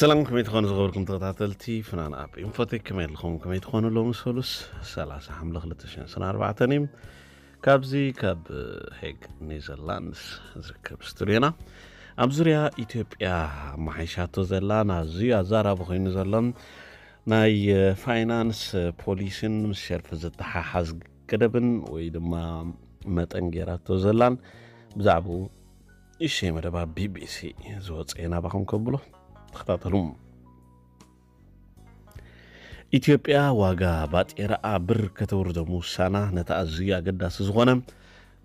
ሰላም፣ ከመይ ትኾኑ ዝኸበርኩም ተኸታተልቲ ፍናን ኣፕ ኢንፎቴክ? ከመይ ኣለኹም? ከመይ ትኾኑ? ሎሚ ሰሉስ ሰላሳ ሓምለ ክልተ ሽሕን ዕስራን ኣርባዕተን እዩ። ካብዚ ካብ ሄግ ኔዘርላንድስ ዝርከብ ስቱድዮና ኣብ ዙርያ ኢትዮጵያ ኣመሓይሻቶ ዘላ ናዚ ኣዛራቢ ኮይኑ ዘሎ ናይ ፋይናንስ ፖሊሲን ምስ ሸርፊ ዝተሓሓዝ ገደብን ወይ ድማ መጠን ገይራቶ ዘላን ብዛዕባኡ እሸይ መደባ ቢቢሲ ዝወፀ ናባኹም ከብሎ ተኸታተሉ። ኢትዮጵያ ዋጋ ባጤራኣ ብር ከተውርዶ ምውሳና ነቲ ኣዝዩ ኣገዳሲ ዝኾነ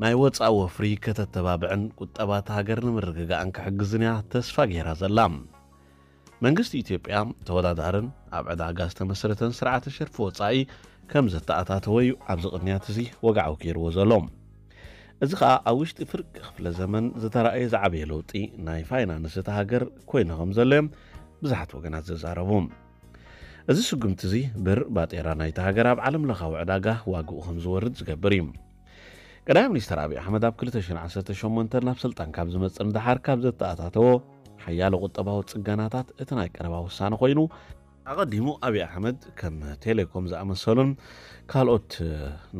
ናይ ወፃኢ ወፍሪ ከተተባብዕን ቁጠባታ ሃገር ንምርግጋእን ክሕግዝን እያ ተስፋ ገይራ ዘላ። መንግስቲ ኢትዮጵያ ተወዳዳርን ኣብ ዕዳጋ ዝተመስረተን ስርዓተ ሸርፊ ወፃኢ ከም ዘተኣታተወ እዩ ኣብዚ ቅንያት እዚ ወግዓዊ ገይርዎ ዘሎ። እዚ ኸኣ ኣብ ውሽጢ ፍርቂ ክፍለ ዘመን ዝተራእየ ዝዓበየ ለውጢ ናይ ፋይናንስ እታ ሃገር ኮይኑ ከም ዘሎ እዮም ብዙሓት ወገናት ዝዛረቡ። እዚ ስጉምቲ እዚ ብር ባጤራ ናይታ ሃገር ኣብ ዓለም ለኻዊ ዕዳጋ ዋግኡ ከም ዝወርድ ዝገብር እዩ። ቀዳማይ ሚኒስትር ኣብይ ኣሕመድ ኣብ ክልተ ሽሕን ዓሰርተ ሸሞንተ ናብ ስልጣን ካብ ዝመጽእ ንደሓር ካብ ዘተኣታተዎ ሓያሎ ቁጠባዊ ጽገናታት እቲ ናይ ቀረባ ውሳነ ኮይኑ፣ ኣቐዲሙ ኣብይ ኣሕመድ ከም ቴሌኮም ዝኣመሰሉን ካልኦት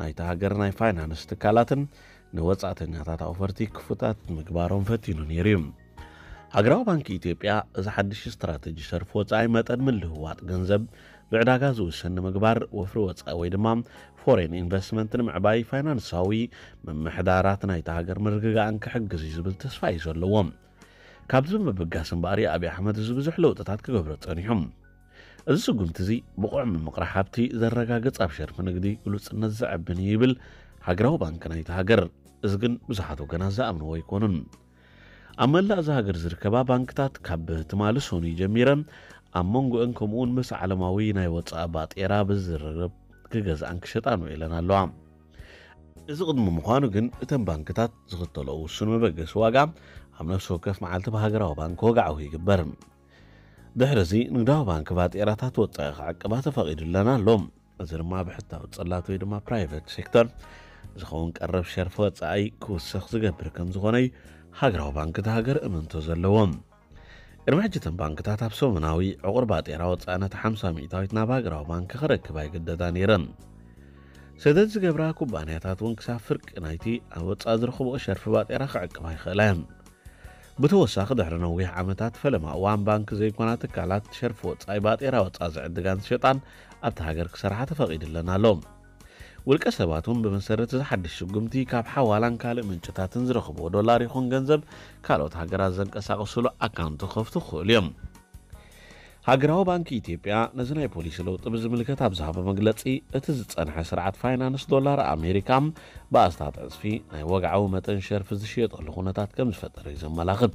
ናይታ ሃገር ናይ ፋይናንስ ትካላትን ንወጻእተኛታት ኣውፈርቲ ክፉታት ምግባሮም ፈቲኑ ነይሩ እዩ። ሃገራዊ ባንኪ ኢትዮጵያ እዚ ሓድሽ ስትራተጂ ሸርፊ ወጻኢ መጠን ምልውዋጥ ገንዘብ ብዕዳጋ ዝውሰን ንምግባር፣ ወፍሪ ወጻኢ ወይ ድማ ፎሬን ኢንቨስትመንት ንምዕባይ፣ ፋይናንሳዊ ምምሕዳራት ናይታ ሃገር ምርግጋእን ክሕግዝ እዩ ዝብል ተስፋ እዩ ዘለዎም። ካብዚ ብምብጋስ እምበኣር ኣብይ ኣሕመድ እዚ ብዙሕ ለውጥታት ክገብሮ ጸኒሑ። እዚ ስጉምቲ እዚ ብቑዕ ምምቕራሕ ሃብቲ ዘረጋግጽ፣ ኣብ ሸርፊ ንግዲ ግሉጽነት ዘዕብን እዩ ይብል ሃገራዊ ባንኪ ናይታ ሃገር። እዚ ግን ብዙሓት ወገናት ዝኣምንዎ ኣይኮኑን። ኣብ መላእ እዛ ሃገር ዝርከባ ባንክታት ካብ ትማሊ ሰኑይ ጀሚረን ኣብ መንጎአን ከምኡውን ምስ ዓለማዊ ናይ ወጻኢ ባጤራ ብዝርርብ ክገዝኣን ክሸጣን ውዒለን ኣለዋ። እዚ ቅድሚ ምዃኑ ግን እተን ባንክታት ዝኽተልኦ ውሱን መበገሲ ዋጋ ኣብ ነፍሲ ወከፍ መዓልቲ ብሃገራዊ ባንክ ወግዓዊ ይግበር። ድሕሪ እዚ ንግዳዊ ባንክ ባጤራታት ወጻኢ ክዕቅባ ተፈቒዱለን ኣሎ። እዚ ድማ ብሕታዊ ጽላት ወይ ድማ ፕራይቬት ሴክተር ዝኸውን ቀረብ ሸርፊ ወጻኢ ክውስኽ ዝገብር ከም ዝኾነ እዩ ሃገራዊ ባንክ እታ ሃገር እምንቶ ዘለዎ። ቅድሚ ሕጂ እተን ባንክታት ኣብ ሰሙናዊ ዕቑር ባጤራ ወጻኢ ነቲ ሓምሳ ሚእታዊት ናብ ሃገራዊ ባንክ ክረክባ ይግደዳ ነይረን። ሰደድ ዝገብራ ኩባንያታት እውን ክሳብ ፍርቂ ናይቲ ኣብ ወጻኢ ዝረኽብኦ ሸርፊ ባጤራ ክዕቅባ ይኽእላ እየን። ብተወሳኺ ድሕሪ ነዊሕ ዓመታት ፈለማ እዋን ባንክ ዘይኮና ትካላት ሸርፊ ወጻኢ ባጤራ ወጻኢ ዝዕድጋን ዝሸጣን ኣብቲ ሃገር ክሰርሓ ተፈቒድለን ኣሎ። ውልቀ ሰባት እውን ብመሰረት እዚ ሓድሽ ስጉምቲ ካብ ሓዋላን ካልእ ምንጭታትን ዝረኽብዎ ዶላር ይኹን ገንዘብ ካልኦት ሃገራት ዘንቀሳቕስሉ ኣካውንት ክኸፍቱ ክኽእሉ እዮም። ሃገራዊ ባንኪ ኢትዮጵያ ነዚ ናይ ፖሊሲ ለውጢ ብዝምልከት ኣብ ዝሃቦ መግለጺ፣ እቲ ዝጸንሐ ስርዓት ፋይናንስ ዶላር ኣሜሪካ ብኣስታት ዕጽፊ ናይ ወግዓዊ መጠን ሸርፊ ዝሽየጠሉ ኩነታት ከም ዝፈጠረ እዩ ዘመላኽት።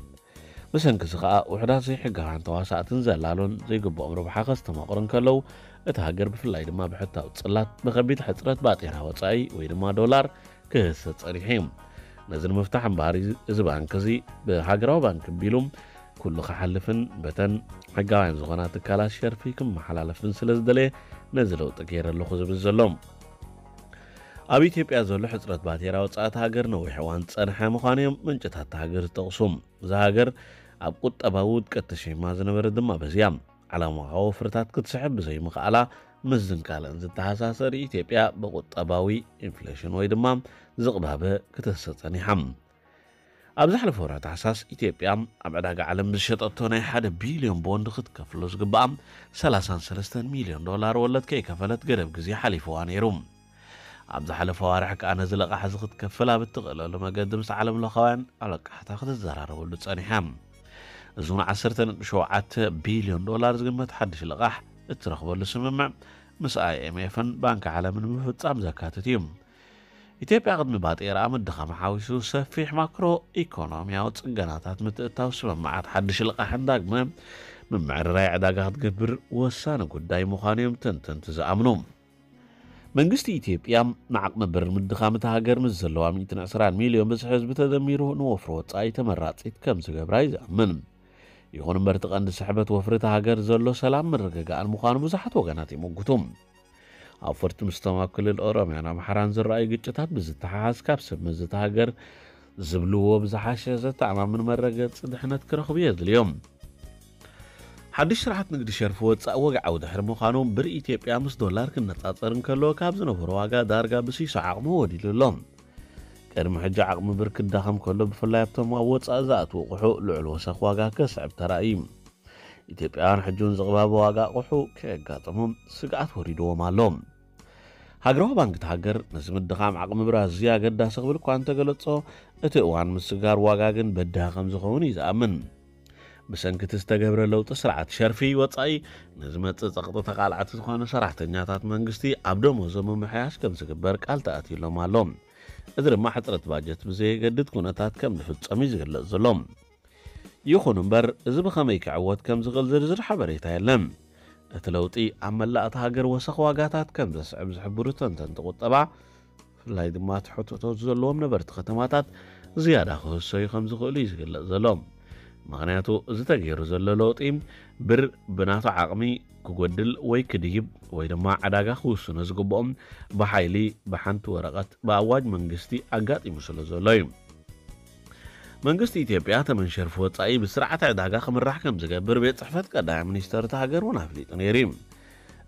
ብሰንኪ እዚ ከኣ ውሑዳት ዘይሕጋውያን ተዋሳእትን ዘላሉን ዘይግብኦም ረብሓ ከስተማቕሩ እንከለዉ፣ እታ ሃገር ብፍላይ ድማ ብሕታዊ ጽላት ብኸቢድ ሕጽረት ባጤራ ወጻኢ ወይ ድማ ዶላር ክህሰ ጸኒሑ እዩ። ነዚ ንምፍታሕ እምበኣር እዚ ባንክ እዚ ብሃገራዊ ባንክ ኣቢሉ ኩሉ ክሓልፍን በተን ሕጋውያን ዝኾና ትካላት ሸርፊ ክመሓላለፍን ስለ ዝደለየ ነዚ ለውጢ ገይረ ኣለኹ ዝብል ዘሎ። ኣብ ኢትዮጵያ ዘሎ ሕጽረት ባጤራ ወጻኢ እታ ሃገር ነዊሕ እዋን ዝጸንሐ ምዃኑ እዮም ምንጭታት እታ ሃገር ዝጠቕሱ። እዛ ሃገር ኣብ ቁጠባዊ ውድቀት ተሸይማ ዝነበረት ድማ በዚ እያ። ዓለማዊ ወፍርታት ክትስሕብ ብዘይምኽኣላ ምስ ዝንካለን ዝተሓሳሰር ኢትዮጵያ ብቁጠባዊ ኢንፍሌሽን ወይ ድማ ዝቕባበ ክትህሰ ጸኒሓ። ኣብ ዝሓለፈ ወርሒ ታሕሳስ ኢትዮጵያ ኣብ ዕዳጋ ዓለም ዝሸጠቶ ናይ ሓደ ቢልዮን ቦንድ ክትከፍሎ ዝግብኣ ሰላሳን ሰለስተን ሚልዮን ዶላር ወለድ ከይከፈለት ገደብ ግዜ ሓሊፍዋ ነይሩ። ኣብ ዝሓለፈ ኣዋርሕ ከኣ ነዚ ለቓሕ እዚ ክትከፍል ኣብ እትኽእለሉ መገዲ ምስ ዓለም ለኻውያን ኣለቃሕታ ክትዘራረበሉ ጸኒሓ። እዚ እውን ዓሰርተ ነጥቢ ሸውዓተ ቢልዮን ዶላር ዝግመት ሓድሽ ልቓሕ እትረኽበሉ ስምምዕ ምስ ኣይኤምኤፍን ባንኪ ዓለምን ምፍጻም ዘካትት እዩ። ኢትዮጵያ ቅድሚ ባጤራኣ ምድኻም ሓዊሱ ሰፊሕ ማክሮ ኢኮኖሚያዊ ጽገናታት ምትእትታው ስምምዓት ሓድሽ ልቓሕን ዳግመ ምምዕርራይ ዕዳጋ ክትገብር ወሳኒ ጉዳይ ምዃኑ እዮም ተንተንቲ ዝኣምኑ። መንግስቲ ኢትዮጵያ ንዓቕሚ ብር ምድኻም እታ ሃገር ምስ ዘለዋ ሚእትን ዕስራን ሚልዮን ብዝሒ ህዝቢ ተደሚሩ ንወፍሪ ወጻኢ ተመራጺት ከም ዝገብራ እዩ ዝኣምን። ይኹን እምበር እቲ ቀንዲ ስሕበት ወፍሪ እታ ሃገር ዘሎ ሰላም ምርግጋእን ምዃኑ ብዙሓት ወገናት ይምጉቱ። ኣውፈርቲ ምስቶም ኣብ ክልል ኦሮምያን ኣምሓራን ዝረኣዩ ግጭታት ብዝተሓሓዝ ካብ ሰብ መዚ እታ ሃገር ዝብልዎ ብዝሓሸ ዘተኣማምን መረገጺ ድሕነት ክረኽቡ የድልዮም። ሓድሽ ስርዓት ንግዲ ሸርፊ ወጻኢ ወግዓዊ ድሕሪ ምዃኑ፣ ብር ኢትዮጵያ ምስ ዶላር ክነጻጸር እንከሎ፣ ካብ ዝነበሮ ዋጋ ዳርጋ ብሲሶ ዓቕሚ ወዲሉ ኣሎ። ቅድሚ ሕጂ ዓቕሚ ብር ክዳኸም ከሎ፣ ብፍላይ ኣብቶም ኣብ ወጻኢ ዝኣትዉ ኣቑሑ ልዑል ወሰኽ ዋጋ ከስዕብ ተራእዩ። ኢትዮጵያውያን ሕጂ እውን ዝቕባበ ዋጋ ኣቑሑ ከየጋጥሞም ስግኣት ወሪድዎም ኣሎ። ሃገራዊ ባንክ እቲ ሃገር፣ ነዚ ምድኻም ዓቕሚ ብር ኣዝዩ ኣገዳሲ ክብል እኳ እንተገለጾ፣ እቲ እዋን ምስጋር ዋጋ ግን በዳሂ ከም ዝኸውን እዩ ዝኣምን። ብሰንኪ እቲ ዝተገብረ ለውጢ ስርዓት ሸርፊ ወጻኢ፣ ንዝመጽእ ጸቕጢ ተቓላዕቲ ዝኾኑ ሰራሕተኛታት መንግስቲ ኣብ ደሞዞም ምምሕያሽ ከም ዝግበር ቃል ተኣትዩሎም ኣሎ። እዚ ድማ ሕጽረት ባጀት ብዘየገድድ ኩነታት ከም ዝፍጸም እዩ ዝግለጽ ዘሎ። ይኹን እምበር፣ እዚ ብኸመይ ክዕወት ከም ዝኽእል ዝርዝር ሓበሬታ የለን። እቲ ለውጢ ኣብ መላእ እታ ሃገር ወሰኽ ዋጋታት ከም ዘስዕብ ዝሕብሩ ተንተንቲ ቁጠባ፣ ብፍላይ ድማ ትሕትቶት ዘለዎም ነበርቲ ከተማታት ዝያዳ ክህሰዩ ከም ዝኽእሉ እዩ ዝግለጽ ዘሎ። ምኽንያቱ፣ እዚ ተገይሩ ዘሎ ለውጢ ብር ብናቱ ዓቕሚ ክጎድል ወይ ክድይብ ወይ ድማ ዕዳጋ ክውስኖ ዝግብኦም ብሓይሊ ብሓንቲ ወረቐት ብኣዋጅ መንግስቲ ኣጋጢሙ ስለ ዘሎ እዩ። መንግስቲ ኢትዮጵያ ተመን ሸርፊ ወጻኢ ብስርዓት ዕዳጋ ክምራሕ ከም ዝገብር ቤት ጽሕፈት ቀዳማይ ሚኒስተር እታ ሃገር እውን ኣፍሊጡ ነይሩ እዩ።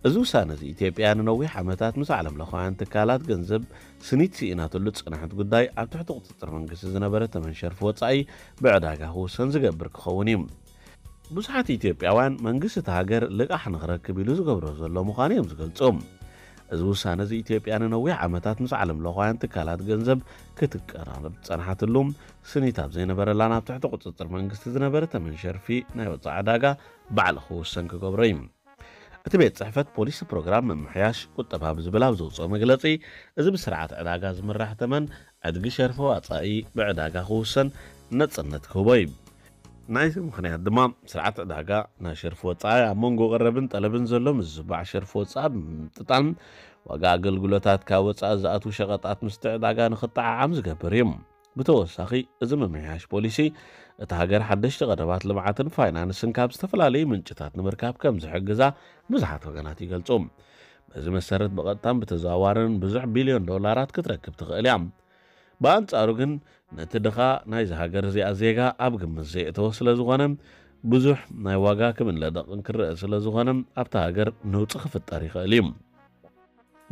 እዚ ውሳነ እዚ ኢትዮጵያ ንነዊሕ ዓመታት ምስ ዓለም ለኻውያን ትካላት ገንዘብ ስኒት ስኢናትሉ ዝጸንሐት ጉዳይ፣ ኣብ ትሕቲ ቁጽጽር መንግስቲ ዝነበረ ተመን ሸርፊ ወጻኢ ብዕዳጋ ክውሰን ዝገብር ክኸውን እዩ። ብዙሓት ኢትዮጵያውያን መንግስቲ እታ ሃገር ልቓሕ ንኽረክብ ኢሉ ዝገብሮ ዘሎ ምዃኑ እዮም ዝገልጹ። እዚ ውሳነ እዚ ኢትዮጵያ ንነዊሕ ዓመታት ምስ ዓለም ለኻውያን ትካላት ገንዘብ ክትቀራረብ ዝጸንሓትሉ፣ ስኒት ኣብ ዘይነበረላን ኣብ ትሕቲ ቁጽጽር መንግስቲ ዝነበረ ተመን ሸርፊ ናይ ወጻኢ ዕዳጋ ባዕሉ ክውሰን ክገብሮ እዩ። እቲ ቤት ጽሕፈት ፖሊሲ ፕሮግራም ምምሕያሽ ቁጠባ ብዝብል ኣብ ዘውፅኦ መግለጺ፣ እዚ ብስርዓት ዕዳጋ ዝምራሕ ተመን ዕድጊ ሸርፊ ወጻኢ ብዕዳጋ ክውሰን ነጽነት ክህቦ እዩ። ናይዚ ምኽንያት ድማ፣ ስርዓት ዕዳጋ ናይ ሸርፊ ወጻኢ ኣብ መንጎ ቀረብን ጠለብን ዘሎ ምዝባዕ ሸርፊ ወጻኢ ብምምጥጣን፣ ዋጋ ኣገልግሎታት ካብ ወጻኢ ዝኣትዉ ሸቐጣት ምስቲ ዕዳጋ ንኽጠዓዓም ዝገብር እዩ። ብተወሳኺ፣ እዚ ምምሕያሽ ፖሊሲ፣ እታ ሃገር ሓደሽቲ ቀረባት ልምዓትን ፋይናንስን ካብ ዝተፈላለዩ ምንጭታት ንምርካብ ከም ዝሕግዛ ብዙሓት ወገናት ይገልጹ። በዚ መሰረት፣ ብቐጥታን ብተዘዋዋርን ብዙሕ ቢልዮን ዶላራት ክትረክብ ትኽእል እያ። ብኣንጻሩ ግን፣ ነቲ ድኻ ናይዚ ሃገር እዚኣ ዜጋ ኣብ ግምት ዘየእተወ ስለ ዝኾነ፣ ብዙሕ ናይ ዋጋ ክብል ለደቕን ክረአ ስለ ዝኾነ፣ ኣብታ ሃገር ነውጺ ክፍጠር ይኽእል እዩ።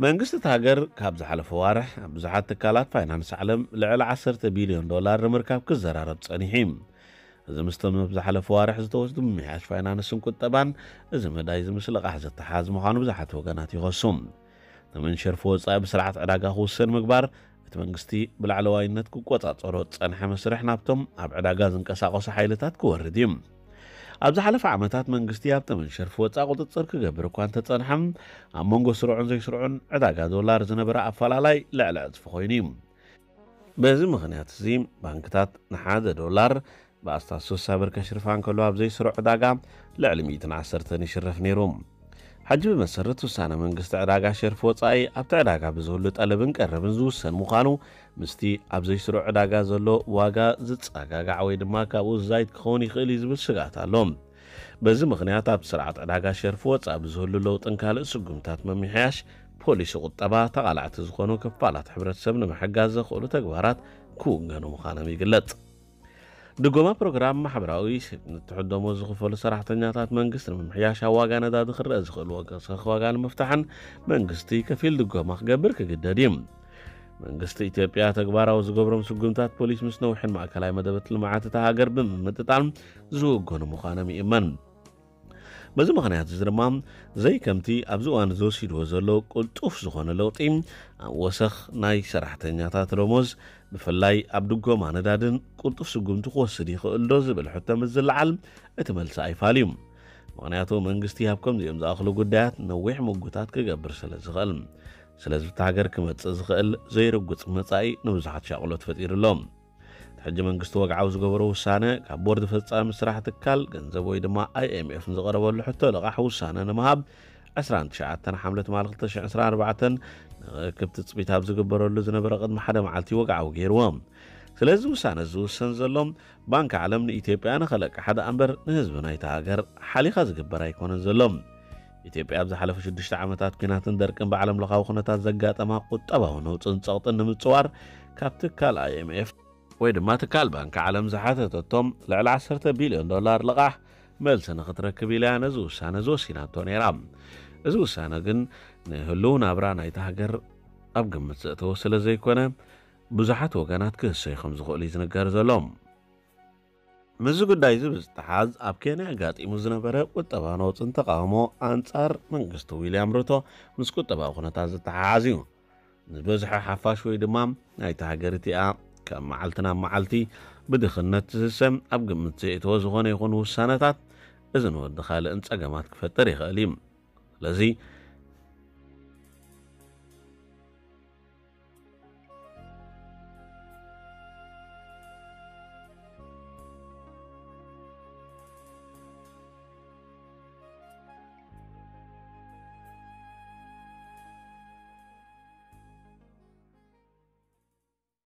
መንግስቲ እታ ሃገር ካብ ዝሓለፈ ዋርሕ ኣብ ብዙሓት ትካላት ፋይናንስ ዓለም ልዕሊ ዓሰርተ ቢልዮን ዶላር ንምርካብ ክዘራረብ ጸኒሑ እዩ። እዚ ምስቶም ኣብ ዝሓለፈ ዋርሕ ዝተወስዱ ምምሕያሽ ፋይናንስን ቁጠባን፣ እዚ መዳይ እዚ ምስ ልቓሕ ዝተሓዝ ምዃኑ ብዙሓት ወገናት ይኸሱ። ተመን ሸርፊ ወጻኢ ብስርዓት ዕዳጋ ክውሰን ምግባር፣ እቲ መንግስቲ ብላዕለዋይነት ክቆጻጸሮ ዝጸንሐ መስርሕ ናብቶም ኣብ ዕዳጋ ዝንቀሳቐሱ ሓይልታት ክወርድ እዩ። ኣብ ዝሓለፈ ዓመታት መንግስቲ ኣብ ተመን ሸርፊ ወጻኢ ቁጽጽር ክገብር እኳ እንተጸንሐ፣ ኣብ መንጎ ስሩዕን ዘይስሩዕን ዕዳጋ ዶላር ዝነበረ ኣፈላላይ ልዕሊ ዕጽፊ ኮይኑ እዩ። በዚ ምኽንያት እዚ፣ ባንክታት ንሓደ ዶላር ብኣስታት ስሳ ብር ከሽርፋ እንከሎ፣ ኣብ ዘይስሩዕ ዕዳጋ ልዕሊ ሚእትን ዓሰርተን ይሽረፍ ነይሩ። ሕጂ ብመሰረት ውሳነ መንግስቲ፣ ዕዳጋ ሸርፊ ወጻኢ ኣብቲ ዕዳጋ ብዝህሉ ጠለብን ቀረብን ዝውሰን ምዃኑ፣ ምስቲ ኣብ ዘይስሩዕ ዕዳጋ ዘሎ ዋጋ ዝጸጋጋዕ ወይ ድማ ካብኡ ዝዛይድ ክኸውን ይኽእል እዩ ዝብል ስግኣት ኣሎ። በዚ ምኽንያት፣ ኣብ ስርዓት ዕዳጋ ሸርፊ ወጻኢ ብዝህሉ ለውጥን ካልእ ስጉምታት ምምሕያሽ ፖሊሲ ቁጠባ፣ ተቓላዕቲ ዝኾኑ ክፋላት ሕብረተሰብ ንምሕጋዝ ዘኽእሉ ተግባራት ክውገኑ ምዃኖም ይግለጽ። ድጎማ ፕሮግራም ማሕበራዊ ስኒት ትሕት ደሞዝ ዝኽፈሉ ሰራሕተኛታት መንግስቲ ንምምሕያሽ፣ ኣብ ዋጋ ነዳዲ ክረአ ዝኽእል ወሰኽ ዋጋ ንምፍታሕን መንግስቲ ከፊል ድጎማ ክገብር ክግደድ እዩ። መንግስቲ ኢትዮጵያ ተግባራዊ ዝገብሮም ስጉምታት ፖሊስ ምስ ነዊሕን ማእከላይ መደባት ልምዓት እታ ሃገር ብምምጥጣን ዝውገኑ ምዃኖም ይእመን። በዚ ምኽንያት እዚ ድማ፣ ዘይከምቲ ኣብዚ እዋን እዚ ወሲድዎ ዘሎ ቅልጡፍ ዝኾነ ለውጢ፣ ኣብ ወሰኽ ናይ ሰራሕተኛታት ደሞዝ፣ ብፍላይ ኣብ ድጎማ ነዳድን፣ ቅልጡፍ ስጉምቲ ክወስድ ይኽእል ዶ ዝብል ሕቶ ምስ ዝለዓል፣ እቲ መልሲ ኣይፋል እዩ። ምኽንያቱ፣ መንግስቲ ኣብ ከምዚኦም ዝኣኽሉ ጉዳያት ነዊሕ ምጉታት ክገብር ስለ ዝኽእል። ስለዚ፣ ኣብታ ሃገር ክመጽእ ዝኽእል ዘይርጉጽ መጻኢ ንብዙሓት ሻቕሎት ፈጢሩ ኣሎ። እቲ ሕጂ መንግስቲ ወግዓዊ ዝገበሮ ውሳነ፣ ካብ ቦርድ ፈጻሚ ስራሕ ትካል ገንዘብ ወይ ድማ ኣይ ኤም ኤፍ ንዝቐረበሉ ሕቶ ልቓሕ ውሳነ ንምሃብ፣ ዕስራን ትሽዓተን ሓምለ ትማሊ ክልተ ሽሕን ዕስራን ኣርባዕተን ንክርክብ ትጽቢት ኣብ ዝግበረሉ ዝነበረ ቅድሚ ሓደ መዓልቲ ወግዓዊ ገይርዎ። ስለዚ ውሳነ ዝውሰን ዘሎ፣ ባንክ ዓለም ንኢትዮጵያ ንኸለቅሓ ደኣ እምበር ንህዝቢ ናይታ ሃገር ሓሊኻ ዝግበር ኣይኮነን ዘሎ። ኢትዮጵያ ኣብ ዝሓለፈ ሽዱሽተ ዓመታት ኲናትን ደርቅን ብዓለም ለኻዊ ኩነታት ዘጋጠማ ቁጠባዊ ነውጽን ጸቕጥን ንምጽዋር፣ ካብ ትካል ኣይ ኤም ኤፍ ወይ ድማ ትካል ባንክ ዓለም ዝሓተተቶም ልዕሊ ዓሰርተ ቢልዮን ዶላር ልቓሕ መልሲ ንኽትረክብ ኢላ ነዚ ውሳነ ዝወሲናቶ ነይራ። እዚ ውሳነ ግን ንህልው ናብራ ናይታ ሃገር ኣብ ግምት ዘእተወ ስለ ዘይኮነ፣ ብዙሓት ወገናት ክህሰዩ ከም ዝኽእሉ እዩ ዝንገር ዘሎ። ምስዚ ጉዳይ እዚ ብዝተሓዝ ኣብ ኬንያ ኣጋጢሙ ዝነበረ ቁጠባ ነውፅን ተቃውሞ ኣንጻር መንግስቲ ዊልያም ሩቶ ምስ ቁጠባዊ ኩነታት ዝተሓሓዝ እዩ። ዝበዝሐ ሓፋሽ ወይ ድማ ናይቲ ሃገር እቲኣ ካብ መዓልቲ ናብ መዓልቲ ብድኽነት ዝህሰም ኣብ ግምት ዘእተወ ዝኾነ ይኹን ውሳነታት እዚ ንወዲ ካልእን ጸገማት ክፈጥር ይኽእል እዩ። ስለዚ